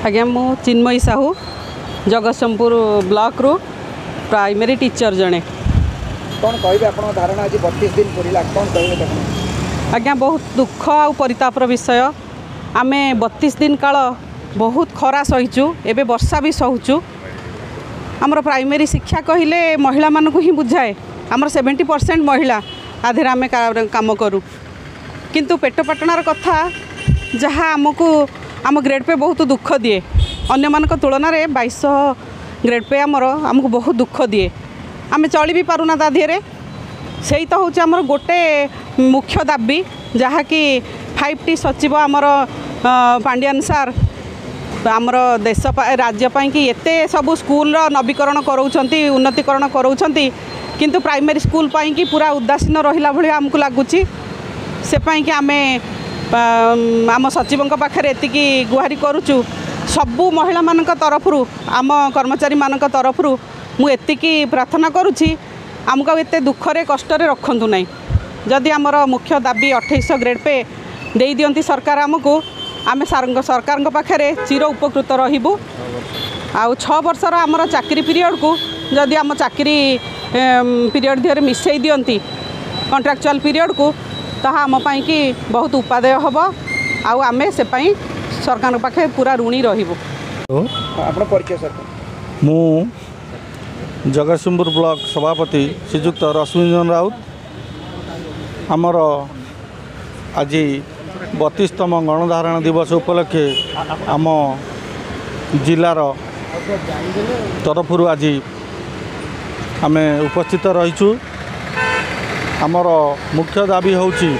ଆଜ୍ଞା, ମୁଁ ଚିନ୍ମୟୀ ସାହୁ, ଜଗତସିଂହପୁର ବ୍ଲକରୁ ପ୍ରାଇମେରୀ ଟିଚର ଜଣେ। କ'ଣ କହିବେ, ଆପଣଙ୍କ ଧାରଣା ଆଜି 32 ଦିନ ପୁରିଲା, କ'ଣ କହିବେ ଦେଖନ୍ତୁ? ଆଜ୍ଞା, ବହୁତ ଦୁଃଖ ଆଉ ପରିତାପର ବିଷୟ। ଆମେ 32 ଦିନ କାଳ ବହୁତ ଖରା ସହିଛୁ, ଏବେ ବର୍ଷା ବି ସହୁଛୁ। ଆମର ପ୍ରାଇମେରୀ ଶିକ୍ଷା କହିଲେ ମହିଳାମାନଙ୍କୁ ହିଁ ବୁଝାଏ। ଆମର 70% ମହିଳା ଆଧିରେ ଆମେ କାମ କରୁ। କିନ୍ତୁ ପେଟ ପାଟଣାର କଥା ଯାହା, ଆମକୁ ଆମ ଗ୍ରେଡ଼୍ ପେ ବହୁତ ଦୁଃଖ ଦିଏ। ଅନ୍ୟମାନଙ୍କ ତୁଳନାରେ 2200 ଗ୍ରେଡ଼୍ ପେ ଆମର ଆମକୁ ବହୁତ ଦୁଃଖ ଦିଏ। ଆମେ ଚଳି ବି ପାରୁନା ତା ଦେହରେ। ସେଇ ତ ହେଉଛି ଆମର ଗୋଟେ ମୁଖ୍ୟ ଦାବି, ଯାହାକି 5ଟି ସଚିବ ଆମର ପାଣ୍ଡିଆନ ସାର୍ ଆମର ଦେଶ ରାଜ୍ୟ ପାଇଁକି ଏତେ ସବୁ ସ୍କୁଲର ନବୀକରଣ କରାଉଛନ୍ତି, ଉନ୍ନତିକରଣ କରାଉଛନ୍ତି, କିନ୍ତୁ ପ୍ରାଇମେରୀ ସ୍କୁଲ ପାଇଁକି ପୁରା ଉଦାସୀନ ରହିଲା ଭଳି ଆମକୁ ଲାଗୁଛି। ସେ ପାଇଁକି ଆମେ ଆମ ସଚିବଙ୍କ ପାଖରେ ଏତିକି ଗୁହାରି କରୁଛୁ। ସବୁ ମହିଳାମାନଙ୍କ ତରଫରୁ, ଆମ କର୍ମଚାରୀମାନଙ୍କ ତରଫରୁ ମୁଁ ଏତିକି ପ୍ରାର୍ଥନା କରୁଛି, ଆମକୁ ଆଉ ଏତେ ଦୁଃଖରେ କଷ୍ଟରେ ରଖନ୍ତୁ ନାହିଁ। ଯଦି ଆମର ମୁଖ୍ୟ ଦାବି 2800 ଗ୍ରେଡ଼୍ ପେ ଦେଇଦିଅନ୍ତି ସରକାର ଆମକୁ, ଆମେ ସାରଙ୍କ ସରକାରଙ୍କ ପାଖରେ ଚିର ଉପକୃତ ରହିବୁ। ଆଉ 6 ବର୍ଷର ଆମର ଚାକିରି ପିରିୟଡ଼କୁ ଯଦି ଆମ ଚାକିରି ପିରିୟଡ଼ ଦେହରେ ମିଶାଇ ଦିଅନ୍ତି କଣ୍ଟ୍ରାକ୍ଚୁଆଲ୍ ପିରିୟଡ଼କୁ, ତାହା ଆମ ପାଇଁକି ବହୁତ ଉପାଦେୟ ହେବ ଆଉ ଆମେ ସେ ପାଇଁ ସରକାରଙ୍କ ପାଖେ ପୁରା ଋଣୀ ରହିବୁ। ଆପଣ ପରିଚୟ ସାର୍? ମୁଁ ଜଗତସିଂହପୁର ବ୍ଲକ ସଭାପତି ଶ୍ରୀଯୁକ୍ତ ରଶ୍ମିରଞ୍ଜନ ରାଉତ। ଆମର ଆଜି 32ତମ ଗଣଧାରଣା ଦିବସ ଉପଲକ୍ଷେ ଆମ ଜିଲ୍ଲାର ତରଫରୁ ଆଜି ଆମେ ଉପସ୍ଥିତ ରହିଛୁ। ଆମର ମୁଖ୍ୟ ଦାବି ହେଉଛି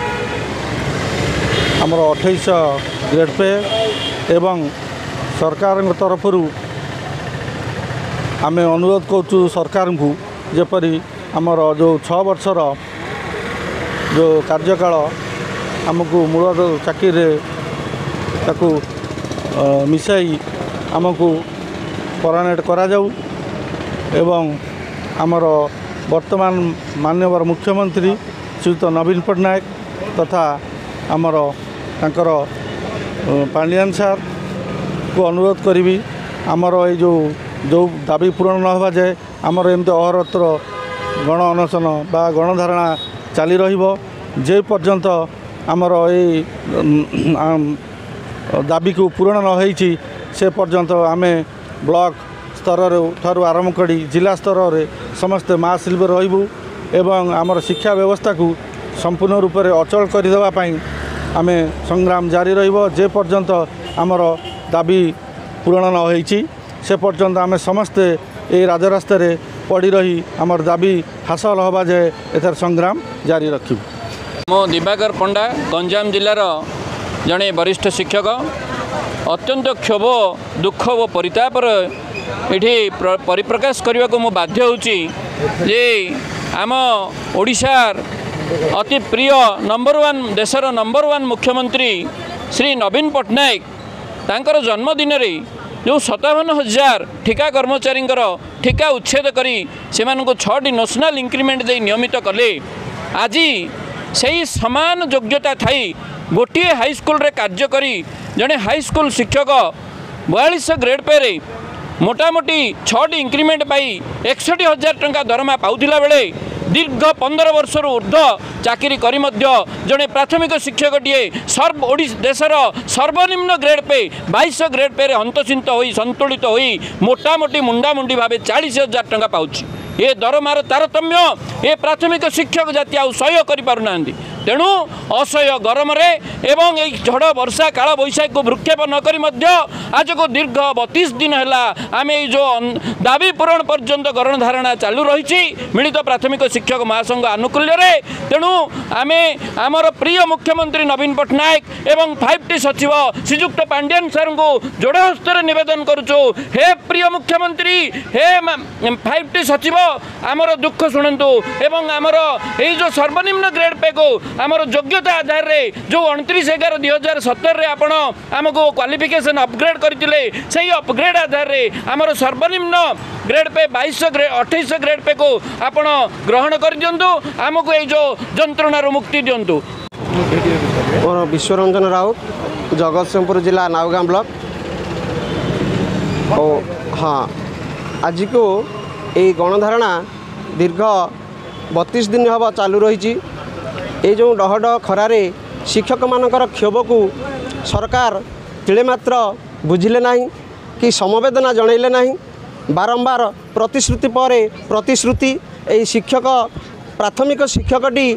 ଆମର 2800 ଗ୍ରେଡ଼୍ ପେ ଏବଂ ସରକାରଙ୍କ ତରଫରୁ ଆମେ ଅନୁରୋଧ କରୁଛୁ ସରକାରଙ୍କୁ, ଯେପରି ଆମର ଯେଉଁ 6 ବର୍ଷର ଯେଉଁ କାର୍ଯ୍ୟକାଳ ଆମକୁ ମୂଳ ଚାକିରିରେ ତାକୁ ମିଶାଇ ଆମକୁ ପରମାନେଣ୍ଟ କରାଯାଉ ଏବଂ ଆମର ବର୍ତ୍ତମାନ ମାନ୍ୟବର ମୁଖ୍ୟମନ୍ତ୍ରୀ ଶ୍ରୀଯୁକ୍ତ ନବୀନ ପଟ୍ଟନାୟକ ତଥା ଆମର ତାଙ୍କର ପାଣ୍ଡିଆନ ସାର୍କୁ ଅନୁରୋଧ କରିବି, ଆମର ଏଇ ଯେଉଁ ଯେଉଁ ଦାବି ପୂରଣ ନ ହେବା ଯାଏ ଆମର ଏମିତି ଅହରତ୍ର ଗଣ ଅନଶନ ବା ଗଣଧାରଣା ଚାଲି ରହିବ। ଯେ ପର୍ଯ୍ୟନ୍ତ ଆମର ଏଇ ଦାବିକୁ ପୂରଣ ନ ହେଇଛି, ସେ ପର୍ଯ୍ୟନ୍ତ ଆମେ ବ୍ଲକ ସ୍ତରରୁ ଠାରୁ ଆରମ୍ଭ କରି ଜିଲ୍ଲା ସ୍ତରରେ ସମସ୍ତେ ମା ଶିଳ୍ପରେ ରହିବୁ ଏବଂ ଆମର ଶିକ୍ଷା ବ୍ୟବସ୍ଥାକୁ ସମ୍ପୂର୍ଣ୍ଣ ରୂପରେ ଅଚଳ କରିଦେବା ପାଇଁ ଆମେ ସଂଗ୍ରାମ ଜାରି ରହିବ। ଯେ ପର୍ଯ୍ୟନ୍ତ ଆମର ଦାବି ପୂରଣ ନ ହେଇଛି, ସେ ପର୍ଯ୍ୟନ୍ତ ଆମେ ସମସ୍ତେ ଏଇ ରାଜରାସ୍ତାରେ ପଡ଼ି ରହି ଆମର ଦାବି ହାସଲ ହେବା ଯାଏ ଏଥର ସଂଗ୍ରାମ ଜାରି ରଖିବୁ। ମୁଁ ଦିବାକର ପଣ୍ଡା, ଗଞ୍ଜାମ ଜିଲ୍ଲାର ଜଣେ ବରିଷ୍ଠ ଶିକ୍ଷକ। ଅତ୍ୟନ୍ତ କ୍ଷୋଭ, ଦୁଃଖ ଓ ପରିତାପର ଏଠି ପରିପ୍ରକାଶ କରିବାକୁ ମୁଁ ବାଧ୍ୟ ହେଉଛି ଯେ ଆମ ଓଡ଼ିଶାର ଅତି ପ୍ରିୟ ନମ୍ବର 1, ଦେଶର ନମ୍ବର 1 ମୁଖ୍ୟମନ୍ତ୍ରୀ ଶ୍ରୀ ନବୀନ ପଟ୍ଟନାୟକ ତାଙ୍କର ଜନ୍ମଦିନରେ ଯେଉଁ 57,000 ଠିକା କର୍ମଚାରୀଙ୍କର ଠିକା ଉଚ୍ଛେଦ କରି ସେମାନଙ୍କୁ 6ଟି ନ୍ୟାସନାଲ୍ ଇନକ୍ରିମେଣ୍ଟ ଦେଇ ନିୟମିତ କଲେ, ଆଜି ସେହି ସମାନ ଯୋଗ୍ୟତା ଥାଇ ଗୋଟିଏ ହାଇସ୍କୁଲରେ କାର୍ଯ୍ୟ କରି ଜଣେ ହାଇସ୍କୁଲ ଶିକ୍ଷକ 4200 ଗ୍ରେଡ଼୍ ପେରେ ମୋଟାମୋଟି 6ଟି ଇନକ୍ରିମେଣ୍ଟ ପାଇ 61,000 ଟଙ୍କା ଦରମା ପାଉଥିଲା ବେଳେ, ଦୀର୍ଘ 15 ବର୍ଷରୁ ଉର୍ଦ୍ଧ୍ୱ ଚାକିରି କରି ମଧ୍ୟ ଜଣେ ପ୍ରାଥମିକ ଶିକ୍ଷକଟିଏ ସର୍ବ ଓଡ଼ିଶା ଦେଶର ସର୍ବନିମ୍ନ ଗ୍ରେଡ଼୍ ପେ 2200 ଗ୍ରେଡ଼୍ ପେରେ ହନ୍ତସନ୍ତ ହୋଇ, ସନ୍ତୁଳିତ ହୋଇ ମୋଟାମୋଟି ମୁଣ୍ଡାମୁଣ୍ଡି ଭାବେ 40,000 ଟଙ୍କା ପାଉଛି। ଏ ଦରମାର ତାରତମ୍ୟ ଏ ପ୍ରାଥମିକ ଶିକ୍ଷକ ଜାତି ଆଉ ସହ୍ୟ କରିପାରୁନାହାନ୍ତି। ତେଣୁ ଅସହ୍ୟ ଗରମରେ ଏବଂ ଏଇ ଝଡ଼ ବର୍ଷା କାଳ ବୈଶାଖୀକୁ ଭୃକ୍ଷେପ ନକରି ମଧ୍ୟ ଆଜକୁ ଦୀର୍ଘ 32 ଦିନ ହେଲା ଆମେ ଏଇ ଯେଉଁ ଦାବି ପୂରଣ ପର୍ଯ୍ୟନ୍ତ ଗଣଧାରଣା ଚାଲୁ ରହିଛି ମିଳିତ ପ୍ରାଥମିକ ଶିକ୍ଷକ ମହାସଂଘ ଆନୁକୂଲ୍ୟରେ। ତେଣୁ ଆମେ ଆମର ପ୍ରିୟ ମୁଖ୍ୟମନ୍ତ୍ରୀ ନବୀନ ପଟ୍ଟନାୟକ ଏବଂ 5ଟି ସଚିବ ଶ୍ରୀଯୁକ୍ତ ପାଣ୍ଡିଆନ ସାର୍ଙ୍କୁ ଯୋଡ଼ ହସ୍ତରେ ନିବେଦନ କରୁଛୁ, ହେ ପ୍ରିୟ ମୁଖ୍ୟମନ୍ତ୍ରୀ, ହେ 5ଟି ସଚିବ, ଆମର ଦୁଃଖ ଶୁଣନ୍ତୁ ଏବଂ ଆମର ଏଇ ଯେଉଁ ସର୍ବନିମ୍ନ ଗ୍ରେଡ଼୍ ପେକୁ ଆମର ଯୋଗ୍ୟତା ଆଧାରରେ ଯେଉଁ 29/11/2017ରେ ଆପଣ ଆମକୁ କ୍ୱାଲିଫିକେସନ୍ ଅପଗ୍ରେଡ୍ କରିଥିଲେ, ସେଇ ଅପଗ୍ରେଡ୍ ଆଧାରରେ ଆମର ସର୍ବନିମ୍ନ ଗ୍ରେଡ୍ ପେ 2200 2800 ଗ୍ରେଡ୍ ପେକୁ ଆପଣ ଗ୍ରହଣ କରିଦିଅନ୍ତୁ, ଆମକୁ ଏଇ ଯେଉଁ ଯନ୍ତ୍ରଣାରୁ ମୁକ୍ତି ଦିଅନ୍ତୁ। ମୋର ବିଶ୍ୱରଞ୍ଜନ ରାଉତ, ଜଗତସିଂହପୁର ଜିଲ୍ଲା ନାଉଗାଁ ବ୍ଲକ। ଓ ହଁ, ଆଜିକୁ ଏଇ ଗଣଧାରଣା ଦୀର୍ଘ 32 ଦିନ ହେବ ଚାଲୁ ରହିଛି। ଏଇ ଯେଉଁ ଡହ ଡହ ଖରାରେ ଶିକ୍ଷକମାନଙ୍କର କ୍ଷୋଭକୁ ସରକାର ତିଳେ ମାତ୍ର ବୁଝିଲେ ନାହିଁ କି ସମବେଦନା ଜଣାଇଲେ ନାହିଁ। ବାରମ୍ବାର ପ୍ରତିଶ୍ରୁତି ପରେ ପ୍ରତିଶ୍ରୁତି, ଏଇ ଶିକ୍ଷକ ପ୍ରାଥମିକ ଶିକ୍ଷକଟି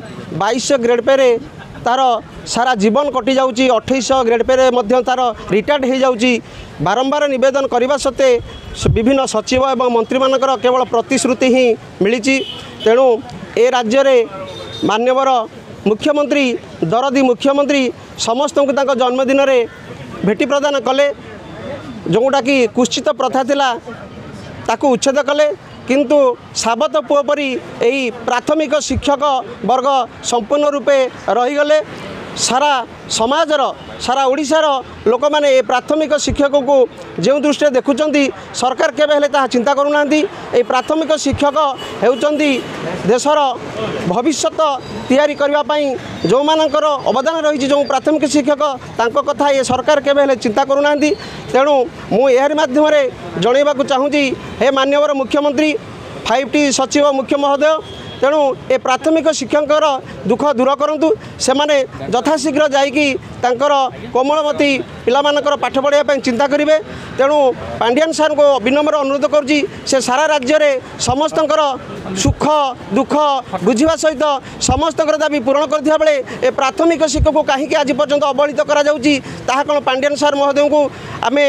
2200 ଗ୍ରେଡ଼୍ ପେରେ ତା'ର ସାରା ଜୀବନ କଟିଯାଉଛି, 2800 ଗ୍ରେଡ଼୍ ପେରେ ମଧ୍ୟ ତା'ର ରିଟାୟାର୍ଡ଼ ହୋଇଯାଉଛି। ବାରମ୍ବାର ନିବେଦନ କରିବା ସତ୍ତ୍ୱେ ବିଭିନ୍ନ ସଚିବ ଏବଂ ମନ୍ତ୍ରୀମାନଙ୍କର କେବଳ ପ୍ରତିଶ୍ରୁତି ହିଁ ମିଳିଛି। ତେଣୁ ଏ ରାଜ୍ୟରେ ମାନ୍ୟବର ମୁଖ୍ୟମନ୍ତ୍ରୀ, ଦରଦୀ ମୁଖ୍ୟମନ୍ତ୍ରୀ ସମସ୍ତଙ୍କୁ ତାଙ୍କ ଜନ୍ମଦିନରେ ଭେଟି ପ୍ରଦାନ କଲେ, ଯେଉଁଟାକି କୁତ୍ସିତ ପ୍ରଥା ଥିଲା ତାକୁ ଉଚ୍ଛେଦ କଲେ। କିନ୍ତୁ ସାବତ ପୁଅ ପରି ଏହି ପ୍ରାଥମିକ ଶିକ୍ଷକ ବର୍ଗ ସମ୍ପୂର୍ଣ୍ଣ ରୂପେ ରହିଗଲେ। ସାରା ସମାଜର, ସାରା ଓଡ଼ିଶାର ଲୋକମାନେ ଏ ପ୍ରାଥମିକ ଶିକ୍ଷକକୁ ଯେଉଁ ଦୃଷ୍ଟିରେ ଦେଖୁଛନ୍ତି, ସରକାର କେବେ ହେଲେ ତାହା ଚିନ୍ତା କରୁନାହାନ୍ତି। ଏହି ପ୍ରାଥମିକ ଶିକ୍ଷକ ହେଉଛନ୍ତି ଦେଶର ଭବିଷ୍ୟତ ତିଆରି କରିବା ପାଇଁ ଯେଉଁମାନଙ୍କର ଅବଦାନ ରହିଛି, ଯେଉଁ ପ୍ରାଥମିକ ଶିକ୍ଷକ, ତାଙ୍କ କଥା ଏ ସରକାର କେବେ ହେଲେ ଚିନ୍ତା କରୁନାହାନ୍ତି। ତେଣୁ ମୁଁ ଏହାରି ମାଧ୍ୟମରେ ଜଣାଇବାକୁ ଚାହୁଁଛି, ହେ ମାନ୍ୟବର ମୁଖ୍ୟମନ୍ତ୍ରୀ, 5T ସଚିବ ମୁଖ୍ୟ ମହୋଦୟ, ତେଣୁ ଏ ପ୍ରାଥମିକ ଶିକ୍ଷକଙ୍କର ଦୁଃଖ ଦୂର କରନ୍ତୁ। ସେମାନେ ଯଥାଶୀଘ୍ର ଯାଇକି ତାଙ୍କର କୋମଳମତି ପିଲାମାନଙ୍କର ପାଠ ପଢ଼ାଇବା ପାଇଁ ଚିନ୍ତା କରିବେ। ତେଣୁ ପାଣ୍ଡିଆନ ସାର୍ଙ୍କୁ ବିନମ୍ର ଅନୁରୋଧ କରୁଛି, ସେ ସାରା ରାଜ୍ୟରେ ସମସ୍ତଙ୍କର ସୁଖ ଦୁଃଖ ବୁଝିବା ସହିତ ସମସ୍ତଙ୍କର ଦାବି ପୂରଣ କରିଥିବା ବେଳେ ଏ ପ୍ରାଥମିକ ଶିକ୍ଷକକୁ କାହିଁକି ଆଜି ପର୍ଯ୍ୟନ୍ତ ଅବହେଳିତ କରାଯାଉଛି, ତାହା କ'ଣ ପାଣ୍ଡିଆନ ସାର୍ ମହୋଦୟଙ୍କୁ ଆମେ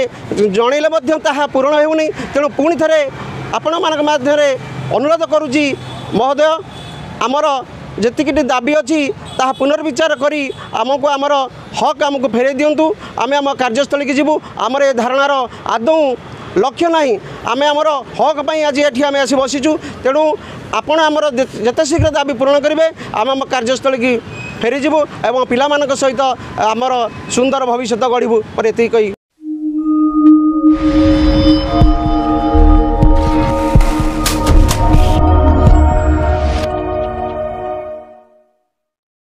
ଜଣାଇଲେ ମଧ୍ୟ ତାହା ପୂରଣ ହେଉନି। ତେଣୁ ପୁଣି ଥରେ ଆପଣମାନଙ୍କ ମାଧ୍ୟମରେ ଅନୁରୋଧ କରୁଛି ମହୋଦୟ, ଆମର ଯେତିକିଟି ଦାବି ଅଛି ତାହା ପୁନର୍ବିଚାର କରି ଆମକୁ ଆମର ହକ୍ ଆମକୁ ଫେରାଇ ଦିଅନ୍ତୁ। ଆମେ ଆମ କାର୍ଯ୍ୟସ୍ଥଳୀକି ଯିବୁ। ଆମର ଏ ଧାରଣାର ଆଦୌ ଲକ୍ଷ୍ୟ ନାହିଁ। ଆମେ ଆମର ହକ୍ ପାଇଁ ଆଜି ଏଠି ଆମେ ଆସି ବସିଛୁ। ତେଣୁ ଆପଣ ଆମର ଯେତେ ଶୀଘ୍ର ଦାବି ପୂରଣ କରିବେ, ଆମେ ଆମ କାର୍ଯ୍ୟସ୍ଥଳୀକି ଫେରିଯିବୁ ଏବଂ ପିଲାମାନଙ୍କ ସହିତ ଆମର ସୁନ୍ଦର ଭବିଷ୍ୟତ ଗଢ଼ିବୁ। ପରେ ଏତିକି କହି